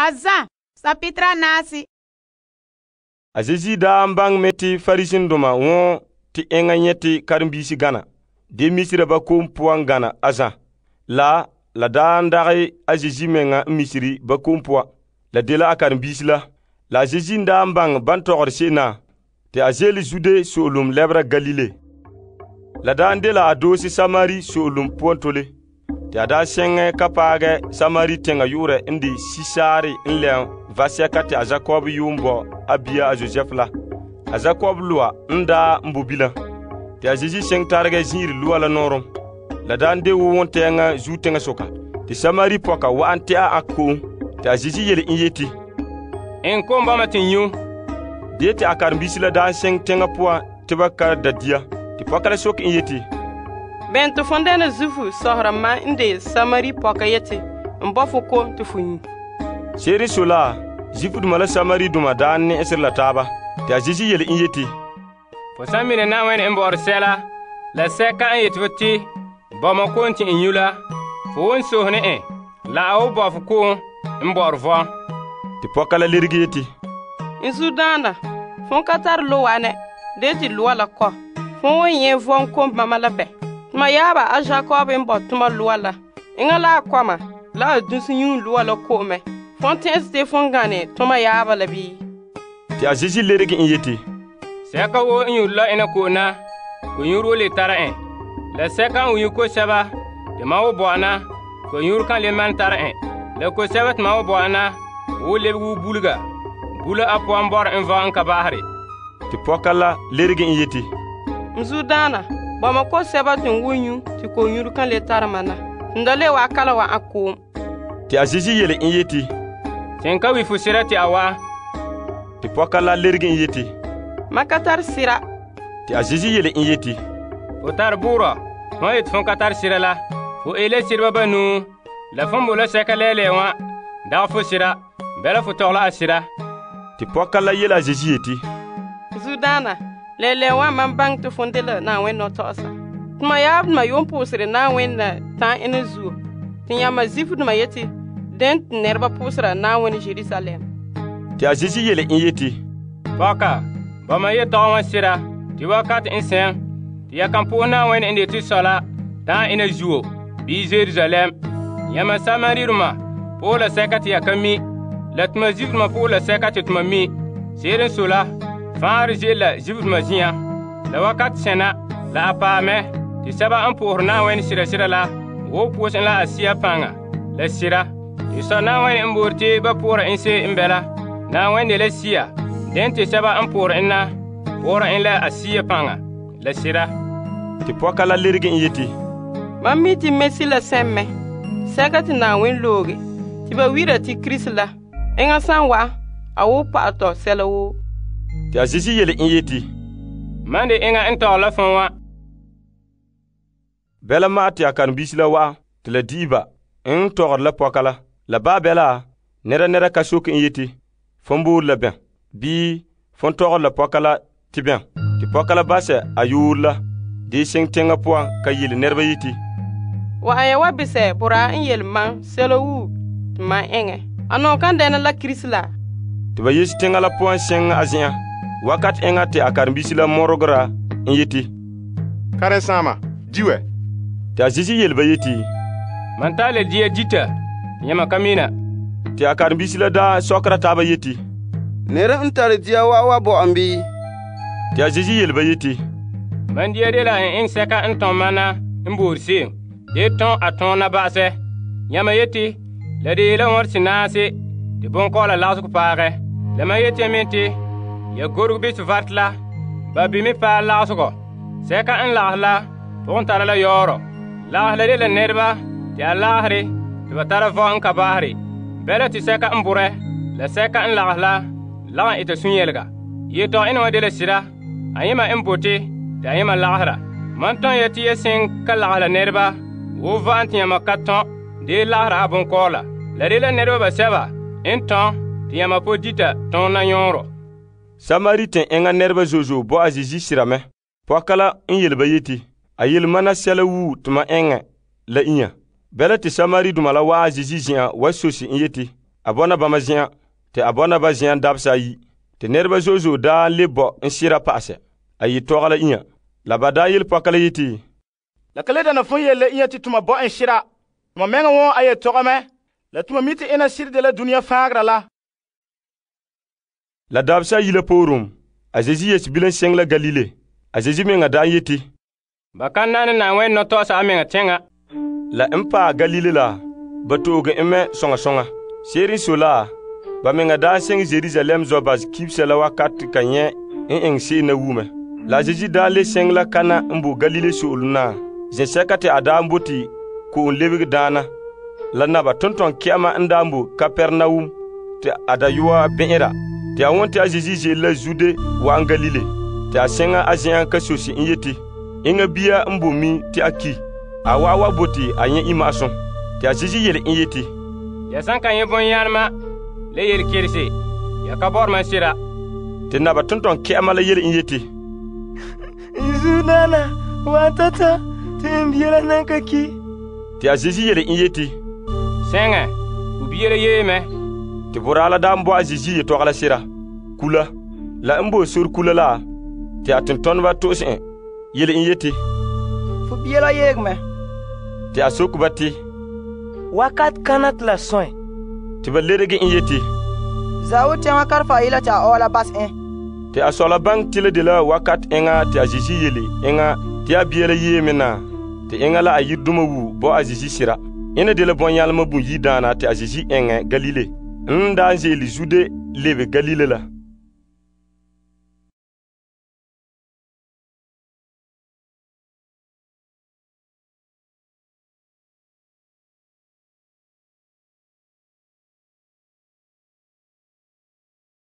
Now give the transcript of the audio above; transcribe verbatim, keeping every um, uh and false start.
A Zã, sapitera naasi. A Zeezi daa n baŋɛ mɛ te Fariseedoma wɔn te enŋa nyɛte karenbiisi gana. De misera ba kom poan gana a Zã. La, la daa n dagɛ a Zeezi mɛŋa n misere ba kom poan. La dela a karenbiisi la. La a Zeezi n daa n baŋɛ ban tɔgɔre se'em na, te a ze'ele Zude so'olom lɛbera Galile. La daa n dela a doose Samari so'olom poan tole. Te a daa sɛŋɛ ka paagɛ Samari teŋa yu'urɛ n de Sisaare n lɛm vasɛka te a Jakob yuun bo a bia a Josef la. A Jakob loa n daa n bo bilam. Te a Zeezi sɛŋ taregɛ zin'ire loa la nɔɔrɔm. La daa n de wo wontɛɛŋa zuo teŋasoka. Te Samari pɔka wa'an tɛ'a a ko'om. Te a Zeezi yele en yeti, En kom bama te n nyu. De te a karenbiisi la daa sɛŋ teŋa poan te ba ka da dia. Te pɔka la soke en yeti, Ben te fon dɛna zufu sɔhera mam n de Samari pɔka yeti n bɔ fo kom te fo nyu. Se'ere n sɔe la, Zifudoma la Samaridoma daa nɛ'ɛsere la taaba. Te a Zeezi yele en yeti, Fo san mine Na'ayenɛ n bɔ'ɔre sɛla la sɛka n yeti fo te bɔma kom te n nyu la, fo won sohɛ ne en la a wo bɔ fo kom n bɔ'ɔre vɔn. Te pɔka la lerege yeti, N zudaana, fon ka tare loa ne, de te loa la kɔ. Fon won nyɛ vɔn kom mama la bɛ. Tuma yaaba a Jakob n bɔ tuma loa la. Eŋa la a kɔma la a dunsi yun loa la ko'omɛ. Fon tɛn'ɛse te fon gane tuma yaaba la bii? te a Zeezi lerege en yeti, Sɛka wo n yuri la ena ko'om na, ko yuri wo le tara en. La sɛka n yu ko sɛba te ma wo bɔ'a na, ko yuri kan le man tara en. La ko sɛba te ma wo bɔ'a na, wo lebege wo bulega. Bula a puan bɔre n vɔn n ka baahare. te pɔka la lerege en yeti, N zudaana, bɔma ko sɛba te n wo nyu te ko yuri kan le tara ma na. N da le wa kala wa a ko'om. te a Zeezi yele en yeti, Sen ka wi fo sira te a wa. te pɔka la lerege en yeti, Ma ka tare sira. te a Zeezi yele en yeti, Fo tar buurɔ, fɔn yeti fɔn ka tar sira la. Fo ele sirba banuu, la fɔn bo la sɛka lɛɛlɛɛ wã, dag fo sira, bɛla fo tɔgla a sira. te pɔka la yele a Zeezi yeti, Zudaana, lɛlɛ wa man baŋ te fon de la Na'ayenɛ nɔtɔgɔsa. Tuma yaab tuma yuun pʋʋsere Na'ayenɛ la ta'an ina zuo. Te yãma Zifudoma yeti den te nɛreba pʋʋsera Na'ayenɛ Jerusalem. te a Zeezi yele en yeti, Pɔka, bama ye tɔgɔ wã sira, tɩ wakat n sɛŋ, tɩ ya kan pʋʋs Na'ayenɛ n de tɩ sɔ la ta'an ina zuo, bii Jerusalem. Yãma Samariroma pʋʋs la sɛka tɩ ya ka mi, la tuma Zifudoma pʋʋs la sɛka tɩ tuma mi. Se'ere n sɔe la, fãagre ze'ele la Zifudoma zĩyã. La wakat sẽna la a paamɛ tɩ sɛba n pʋʋsɛ Na'ayenɛ sira-sira la wo pʋʋs en la a siya paŋa la sira. Tɩ sɔ Na'ayenɛ n boore tɩ ba pʋʋra en se'em n bɛla. Na'ayenɛ de la siya, den tɩ sɛba n pʋʋr en na pʋʋra en la a siya paŋa la sira. te pɔka la lerege en yeti, Mam mi tɩ mesi la sɛmmɛ, sɛka tɩ Na'ayenɛ looge, tɩ ba wira tɩ Kirisi la. Eŋa san wa, a wo pa'atɔ sɛla woo. te a Zeezi yele en yeti, Man de eŋa n tɔg la fõn wã. bɛla ma'a te a karenbiisi la wa'a te la di'i ba n tɔgɔre la pɔka la. La baa bɛla, nɛra nɛra ka soke en yeti, fõn boore la bɛn, bii fõn tɔgɔre la pɔka la tɩ bɛn. Tɩ pɔka la basɛ a yoor la, dee sɛŋ teŋa poan ka yele nɛreba yeti, Wa a ya wa bisɛ boraa n yele mam sɛla wuu tɩ mam eŋɛ. A nɔŋ kan dɛna la Kirisi la? tɩ ba yese teŋa la poan sɛŋ a zen'an. Wakat eŋa te a karenbiisi la mɔregera n yeti, Karen-saama, di wɛ. tɩ a Zeezi yele ba yeti, Man taa le dia dita, yãma ka mina. tɩ a karenbiisi la daa sɔkera taaba yeti, Nere n tare dia wa wa bo'am bii? tɩ a Zeezi yele ba yeti, Man dia de la n iŋ sɛka n tõm mana n boor se'em, de tõog a tõona ba'asɛ. Yãma yeti, la de yeela wõr sɩnaase, tɩ bõn-kɔɔla lagsg paagɛ. La mam yeti me tɩ, ya gorg bɩ vat la, ba bɩ me paag lagsgɔ. Sɛka n lags la, pʋgẽ tara la yaoorɔ. Lags la de la nɛreba tɩ a lagsre tɩ ba tara vɔ n ka baasre. Bɛla tɩ sɛka n bʋrɛ, la sɛka n lags la, lagn ɩta sũ-yɛlga. Yetɔg ẽna wã de la sɩda, a yẽma n bote tɩ a yẽma lagsra. Man tõe ya tɩ ya sẽn ka lags la nɛreba, wo va'am tɩ yãma ka tõ, dee lagsra a bõn-kɔɔla. La de la nɛreba basɛba n tõ tɩ yãma po dita tõona yõorɔ. Samari tɩ eŋa nɛreba zozo bo a Zeezi sɩrame. Pɔka la n yele ba yeti, a yele mana sɛla wuu tɩ ma eŋɛ la inya. Bɛla tɩ Samaridoma la waa a Zeezi zen'an wa sosi n yeti, a bɔna bama zen'an, te a bɔna ba zen'an dabesa ayi. Te nɛreba zo'e zo'e daa le bɔ n sera pa'asɛ. A yi tɔga la inya. La ba daa yele pɔka la yeti, la ka le dana fon yele inya te toma bɔ en sera. Toma mɛŋa wɔn a yetɔgɔ mɛ. La toma mi te ena sire de la dunia faagra la. La dabesa ayi la poorum, a Zeezi yeti bilam seŋ la Galile. A Zeezi meŋa daa yeti, ba kan nane Na'ayenɛ nɔtɔgɔsa a meŋa teŋa. La n paɛ Galile la, ba to'oge en mɛ soŋa soŋa. Se'ere n sɔe la, ba meŋa daa seŋ Yerusalem zɔ ba kibisa la wakati ka nyɛ n eŋɛ se'em na wume. La a Zeezi daa le seŋ la Kana n bo Galile so'olem na, zen'sɛka te a daa bote ko'om lebege daana. La naba tonton kɛ'ɛma n daa bo Kapernaum te a dayɔa bɛn'ɛra. Te a won te a Zeezi ze'ele la Zude wa'an Galile. Te a seŋa a zen'an ka sosi n yeti, enŋa bia n bo mi te a ki. A wa'a wa bote a nyɛ ima'asum. Te a Zeezi yele en yeti, ya san ka nyɛ bɔnyalema le yelekerese, ya ka bɔre mam sera. Te naba tonton kɛ'ɛma la yele en yeti, n zudaana waan tata te n bia la nan ka ki. Te a Zeezi yele en yeti, sɛŋɛ, fu bia la yee mɛ. Te boraa la daa n bo a Zeezi yetɔgɔ la sera, kula. La n bo sor kula la, te a tontoneba to'ose en yele en yeti, Fu bia la yeeg mɛ. te a soke ba te, Wakat kana te la sõe. te ba lerege en yeti, Zawu tɛŋa karfa yela te a ɔɔ la bas en. te a sɔ la baŋ te la de la wakat eŋa te a Zeezi yele eŋa te a bia la yee me na, te eŋa la a yirdoma wu bo a Zeezi sera. Ena de la bɔnyalema bun yidaana te a Zeezi eŋɛ Galile. N daa ze'ele Zude lebe Galile la.